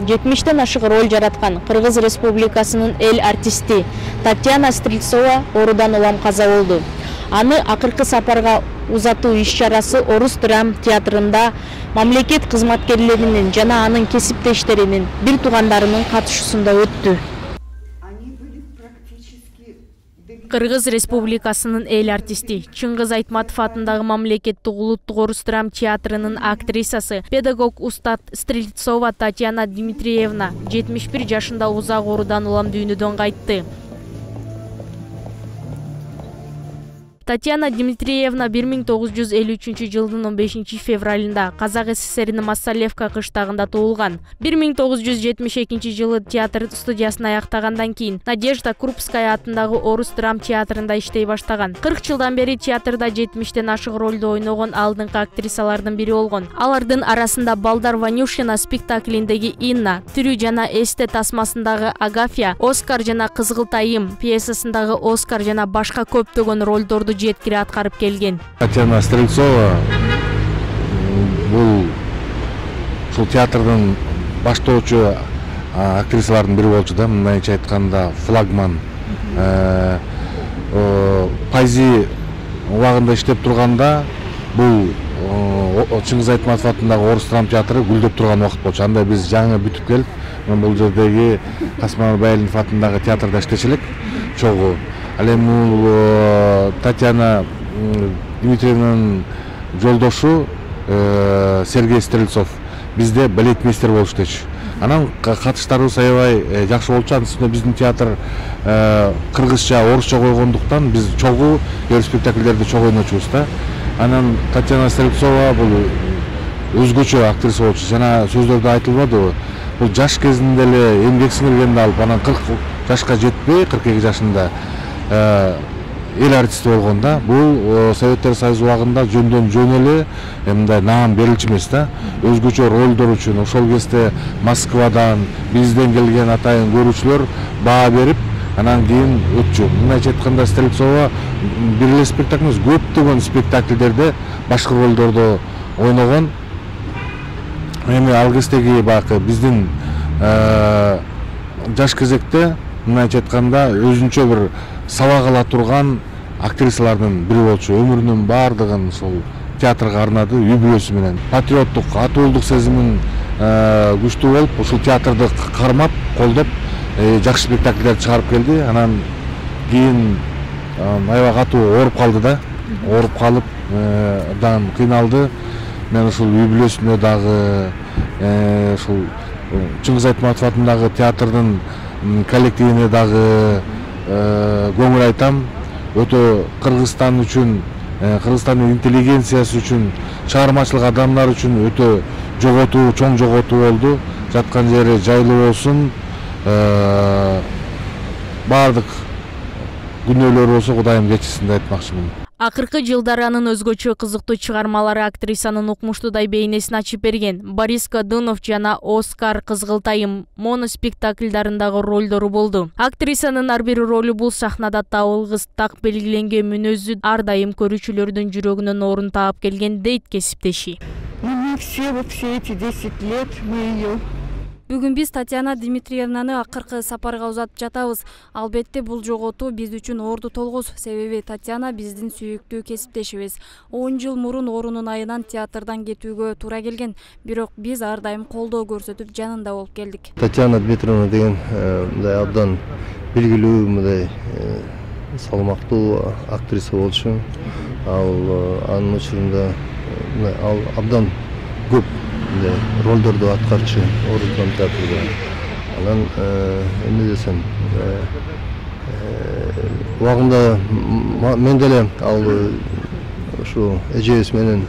70тен ашык роль жараткан Кыргыз Республикасынын эл артисти Татьяна Стрельцова оорудан улам каза болду. Аны акыркы сапарга узатуу иш-чарасы Орус драм театрында мамлекет кызматкерлеринин жана анын кесиптештеринин, бир туугандарынын катышуусунда өттү. Кыргыз Республикасынын эл артисти Чыңгыз Айтматов атындагы мамлекеттик улуттук Орус драм театрынын актрисасы, педагог устат Стрельцова Татьяна Дмитриевна 71 жашында узак оорудан улам дүйнөдөн кайтты. Татьяна Дмитриевна 1953 жылдын 15 февралында Казак СССРинин Массалевка кыштагында туулган. 1972 жылы театр студиясын аяктагандан кийин Надежда Крупская атындагы Орус драм театрында иштей баштаган. 40 жылдан бери театрда 70тен ашык ролду ойногон алдыңкы актрисалардын бири болгон. Алардын арасында Балдар Ванюшина спектаклиндеги Инна, Тирүү жана Эсте тасмасындагы Агафья, Оскар жана Кызгылтайым пьесасындагы Оскар жана башка көптөгөн ролдорду жеткире аткарып келген. Татьяна Стрельцова бул ушул театрдын баштоочу актрисалардын бири болчу да, мындайча айтканда флагман. Пайзи убагында иштеп турганда бул Чыңгыз Айтматов атындагы Орус драм театры гүлдөп турган убакыт болчу. Анда биз жаңы бүтүп келип, бул жердеги Касым Байылинов атындагы театрда иштечелик чогуу. Ал эми Татьяна Дмитриевнанын жолдошу Сергей Стрельцов бизде балетмейстер болуш дечү. Анан катыштарыбыз аябай жакшы болчу. Анын үстүнө биздин театр кыргызча, орусча койгондуктан биз чогуу спектакльдерди чогуу ойночубуз да. Анан Татьяна Стрельцова бул өзгөчө актриса болчу. Жана сөздөрдө айтылбадыбы? Бул жаш кезинде эле эмгек сиңиргенди алып, анан 40 жашка жетпей, 42 жашында эл артисти болгон да. Бул Советтер Союзу убагында жөндөн жөн эле мындай наам берилчү эмес да. Өзгөчө ролдор үчүн ошол кезде Москвадан, бизден келген атайын көрүүчүлөр баа берип, анан кийин өтчү. Мындайча айтканда Стрельцова бир эле спектакль эмес, көптөгөн спектакльдерде башкы ролдорду ойногон. Эми ал кездеги баягы биздин жаш кезекте мындайча айтканда өзүнчө бир сабак ала турган актрисалардын бири болчу. Өмүрүнүн баардыгын ошол театрга арнады, үй бүлөсү менен. Патриоттук, атуулдук сезимин күчтүү болуп, ушул театрды кармап, колдоп, жакшы спектакльдер чыгарып келди. Анан кийин аябай катуу ооруп калды да. Ооруп калып, абдан кыйналды. Мен ушул үй бүлөсүнө дагы, ушул Чыңгыз Айтматов атындагы театрдын коллективине дагы көңүл айтам. Өтө Кыргызстан үчүн, Кыргызстандын интеллигенциясы үчүн, чыгармачылык адамдар үчүн өтө жоготуу, чоң жоготуу болду. Жаткан жери жайлуу болсун. Бардык күнөөлөр болсо Кудайым кечирсин деп айтмакчымын. Акыркы жылдары анын өзгөчө кызыктуу чыгармалары актрисанын укмуштуудай бейнесин ачып берген. Борис Годунов жана Оскар Кызгылтайым моноспектакльдарындагы ролдору болду. Актрисанын ар бир ролу бул сахнада табылгыс так белгиленген мүнөзү ар дайым көрүүчүлөрдүн жүрөгүнөн орун таап келген дейт кесиптеши. Мы все эти 10 лет мы ее. Бүгүн биз Татьяна Дмитриевнаны акыркы сапарга узатып жатабыз. Албетте бул жоготуу биз үчүн орду толгус. Себеби Татьяна биздин сүйүктүү кесиптешибиз. 10 жыл мурун оорунун айынан театрдан кетүүгө туура келген. Бирок биз ар дайым колдоо көрсөтүп жанында болуп келдик. Татьяна Дмитриевна деген мындай абдан белгилүү, мындай салмактуу актриса болчу. Анын учурунда ал абдан көп ролдорду аткарчу Орус драм театрында. Анан эмне десем, убагында мен деле ал ушу эжебиз менен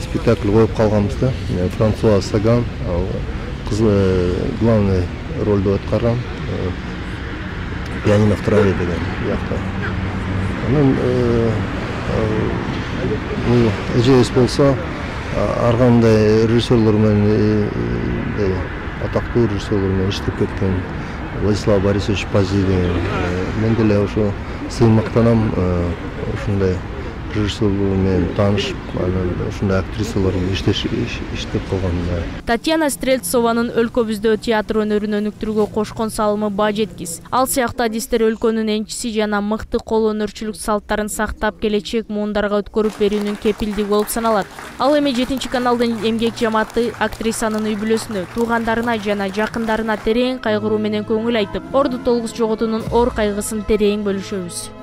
спектакль коюп калганбыз да. Франсуа Саган главный ролду аткарган, пианино в траве деген жакта. Анан эжебиз болсо ар кандай режиссерлор менен, атактуу режиссерлор менен иштеп кеткен. Владислав Борисович Пази деген. Мен деле ошо сыймактанам ушундай режиссер менен таанышып, анан ушундай актрисалар иштеп калган. Татьяна Стрельцованын өлкөбүздө театр өнөрүн өнүктүрүүгө кошкон салымы баа жеткис. Ал сыяктуу адистер өлкөнүн энчиси жана мыкты кол өнөрчүлүк салттарын сактап келечек муундарга өткөрүп берүүнүн кепилдиги болуп саналат. Ал эми 7-каналдын эмгек жамааты актрисанын үй бүлөсүнө, туугандарына жана жакындарына терең кайгыруу менен көңүл айтып, орду толгус жоготуунун оор кайгысын терең бөлүшөбүз.